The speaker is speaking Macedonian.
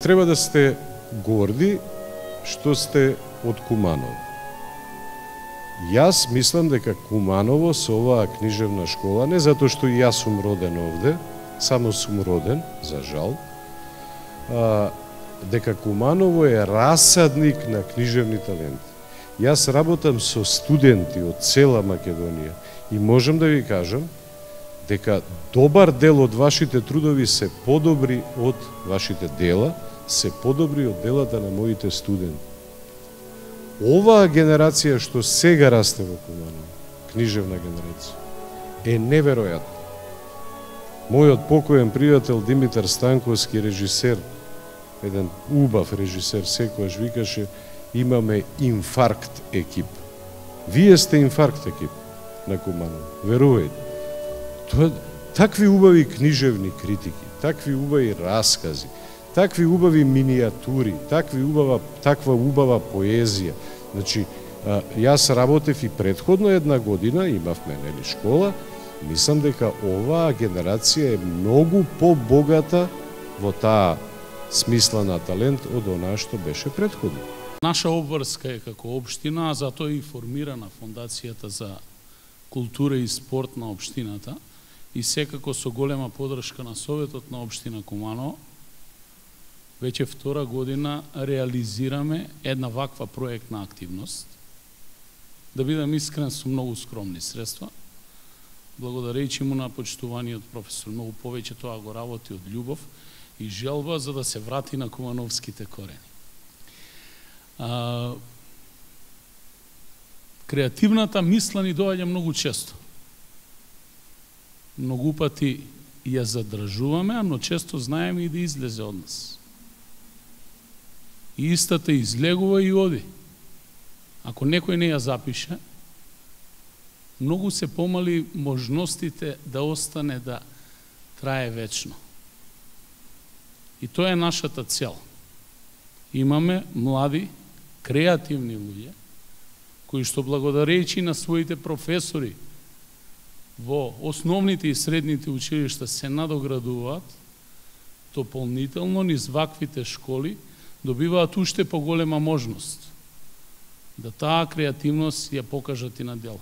Треба да сте горди што сте од Куманово. Јас мислам дека Куманово со оваа книжевна школа, не затоа што и јас сум роден овде, само сум роден, за жал, дека Куманово е расадник на книжевни таленти. Јас работам со студенти од цела Македонија и можам да ви кажам дека добар дел од вашите трудови се подобри од вашите дела, се подобри од делата на моите студенти. Оваа генерација што сега расте во Куманово, книжевна генерација, е неверојатна. Мојот покоен пријател Димитар Станковски, режисер, еден убав режисер, секојаш викаше: имаме инфаркт екип. Вие сте инфаркт екип на Куманово, верувајте. Такви убави книжевни критики, такви убави раскази, такви убави минијатури, таква убава поезија. Значи, јас работев и претходно една година, имавме нели школа, мислам дека оваа генерација е многу побогата во таа смисла на талент од онаа што беше претходно. Наша обврска е како општина, а затоа и формирана Фондацијата за култура и спорт на општината и секако со голема поддршка на Советот на општина Куманово. Веќе втора година реализираме една ваква проектна активност. Да бидам искрен, со многу скромни средства. Благодарејќи му на почитуваниот професор, многу повеќе тоа го работи од љубов и желба за да се врати на кумановските корени. Креативната мисла ни доаѓа многу често. Многу пати ја задржуваме, но често знаеме и да излезе од нас. И истата излегува и оди. Ако некој не ја запише, многу се помали можностите да остане да трае вечно. И тоа е нашата цел. Имаме млади, креативни луѓе, кои што благодарејќи на своите професори во основните и средните училишта се надоградуваат, дополнително низ ваквите школи добиваат уште поголема можност да таа креативност ја покажат и на дел.